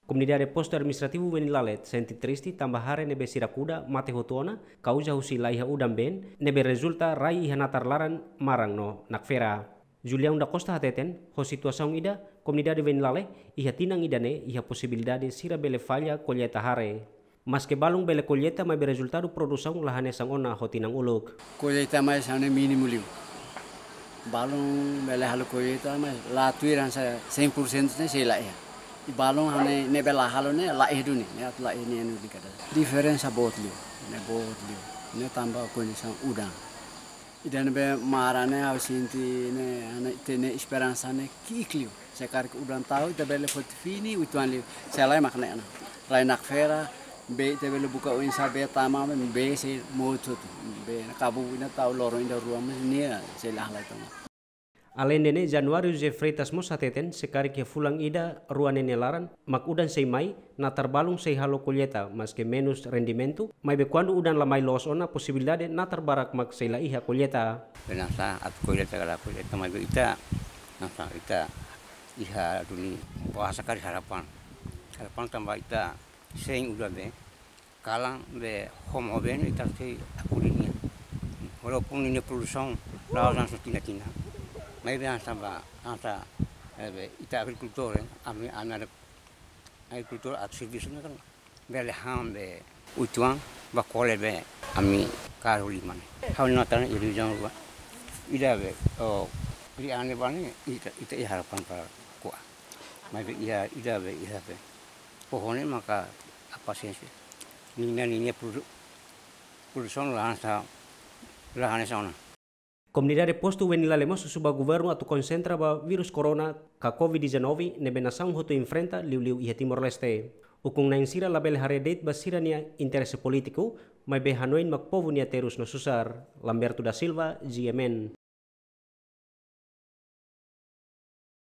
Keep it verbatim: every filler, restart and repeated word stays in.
Komunidade Postu Administrativu Venilale sente triste tanba hare ne'ebé sira kuda mate hotu ona, kauza husi laiha udan-been, ne'ebé rezulta rai iha natar laran, maran no nakfera. Julião da Costa hateten, ho situasaun ida, komunidade Venilale iha tinan ida-ne'e iha posibilidade sira bele falla kolleita hare. Maske balun bele kolleita maibé rezultadu produsaun la hanesan ona ho tinan uluk. Kolleita maibé hanesan mínimu liu. Balun bele halo kolleita maibé la tuir hanesan cem por cento ne'e sei la iha. I balun hanesan ne'ebé la halo ne'e la iha duni, ne'e atu la iha ne'e anu di kada. Diferensa boot liu, ne'e boot liu. Ne'e tanba kondisaun udan. Ida ne'ebé maran ne'e ha'u sente ne'e, hanesan ita-nia esperansa ne'e ki'ik liu. Se karik udan tau, ita bele foti fini, uitoan liu. Se lae mak ne'e ona. Rai nakfera, bee ita bele buka oinsá bee tama, bee sei mout hotu. Bee ne'e kabu ida tau loron ida rua maibé nia sei la halai tama. Aleinde ne'e, Januário José Freitas mós hateten, se karik iha fulan ida rua ne'e nia laran mak udan sei mai, natar balun sei halo kolleita, maske menus rendimentu, maibé kuandu udan la mai loos ona, posibilidade natar barak mak sei la iha kolleita. Penasa atu kolleita kala kolleita maibé ita, nasa ita iha duni bahasa kari harapan. Harapan tanba ita sein udan-been, kalan bee homo-been ita sei akuri nia. Walaupun nia produsaun la'ós hanesan tinan-tinan. Maibé hanesan ba, hanesan, eh, be, ita agrikultór, eh, ami, ami ada agrikultór atu servisu ne'e kan. Bele han bee uitoan ba kole bee ami karu liman. Ha'u-nia natar iha rejiaun rua. Ida be, oh, ri ane bane ita, ita iha harapan para ko'a. Maibé iha, ida be, iha be. Pohon ne'e maka pasiénsia. Ninia, ninia produ-, produsaun la hanesan, la hanesan ona. Komunidade Postu Venilale mós husu ba governu atu konsentra ba vírus corona ka covid dezanove ne'ebé nasaun hotu enfrenta liuliu iha Timor-Leste. Ukun-na'in sira labele haree de'it ba sira-nia interese polítiku, maibé hanoin mak povu nia terus no susar. Lamberto da Silva, G M N.